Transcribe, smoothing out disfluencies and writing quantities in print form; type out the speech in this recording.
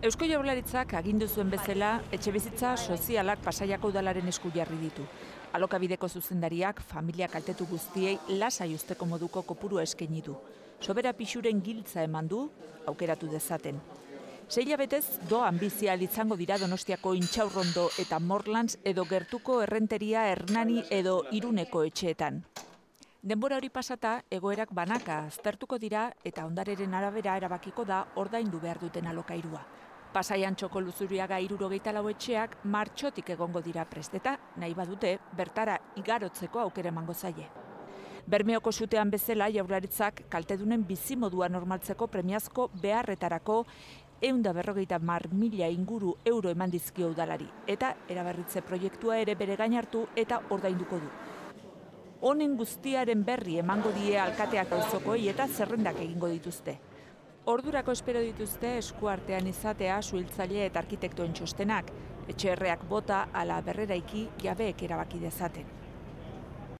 Eusko Jaurlaritzak agindu zuen bezala, etxebizitza sozialak Pasaiako udalaren esku jarri ditu. Alokabideko zuzendariak familia kaltetu guztiei lasai usteko moduko kopurua eskaini du. Sobera pixuren giltza eman du, aukeratu dezaten. 6 hilabetez doan bizi izango dira Donostiako Intxaurrondo eta Morlans edo gertuko Errenteria, Hernani edo Iruneko etxeetan. Denbora hori pasata, egoerak banaka aztertuko dira eta ondareren arabera erabakiko da ordaindu behar duten alokairua. Pasaian Txoko Luzuriaga 74 etxeak martxotik egongo dira presteta, nahi badute bertara igarotzeko aukera emango zaie. Bermeoko sutean bezala Jaurlaritzak kaltedunen bizimodua normaltzeko premiazko beharretarako 150.000 inguru euro eman dizkio udalari eta eraberritze proiektua ere bere gain hartu eta ordainduko du. Honen guztiaren berri emango die alkateak auzokoei eta zerrendak egingo dituzte. Ordurako espero dituzte eskuartean izatea suhiltzaile eta arkitektuen txostenak, etxerreak bota ala berreraiki jabeek erabaki dezaten.